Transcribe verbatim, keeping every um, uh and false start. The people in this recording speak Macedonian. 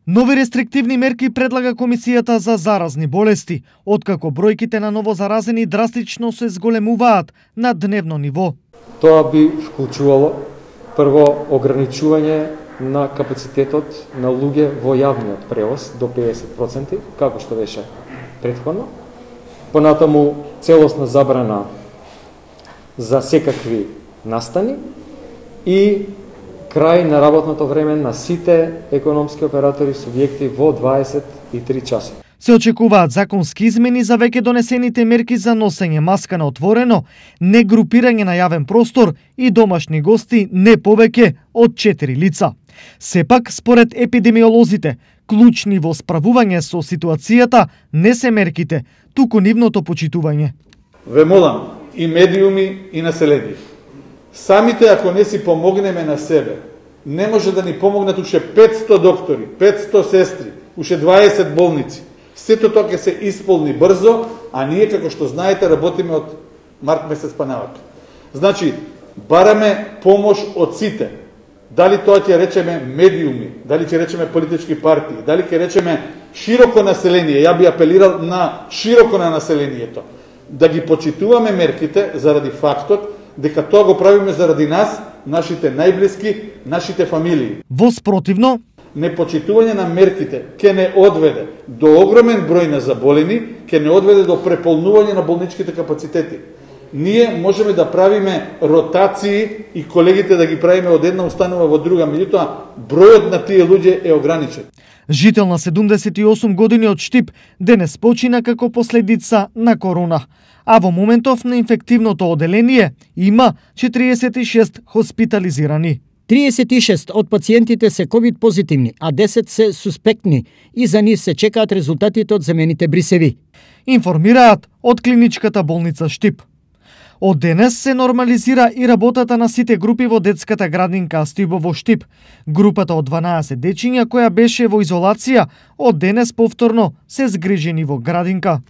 Нови рестриктивни мерки предлага Комисијата за заразни болести, откако бројките на новозаразени драстично се зголемуваат на дневно ниво. Тоа би вклучувало прво ограничување на капацитетот на луѓе во јавниот превоз до педесет проценти, како што беше претходно. Понатаму целосна забрана за секакви настани и крај на работното време на сите економски оператори субјекти во дваесет и три часа. Се очекуваат законски измени за веќе донесените мерки за носење маска на отворено, не групирање на јавен простор и домашни гости не повеќе од четири лица. Сепак, според епидемиолозите, клучни во справување со ситуацијата не се мерките, туку нивното почитување. Ве молам, и медиуми и население. Самите ако не си помогнеме на себе, не може да ни помогнат уште петсто доктори, петсто сестри, уште дваесет болници. Сето тоа ќе се исполни брзо, а ние, како што знаете, работиме од март месец па навака. Значи, бараме помош од сите. Дали тоа ќе речеме медиуми, дали ќе речеме политички партии, дали ќе речеме широко население. Ја би апелирал на широко на населението. Да ги почитуваме мерките заради фактот дека тоа го правиме заради нас, нашите најблиски, нашите фамилии. Во спротивно, непочитување на мерките ќе не одведе до огромен број на заболени, ќе не одведе до преполнување на болничките капацитети. Ние можеме да правиме ротации и колегите да ги правиме од една установа во друга, меѓутоа бројот на тие луѓе е ограничен. Жител на седумдесет и осум години од Штип денес почина како последица на корона, а во моментов на инфективното оделение има четириесет и шест хоспитализирани. триесет и шест од пациентите се ковид позитивни, а десет се суспектни и за нив се чекаат резултатите од земените брисеви. Информираат од клиничката болница Штип. Од денес се нормализира и работата на сите групи во детската градинка Астибо во Штип. Групата од дванаесет дечиња која беше во изолација, од денес повторно се згрижени во градинка.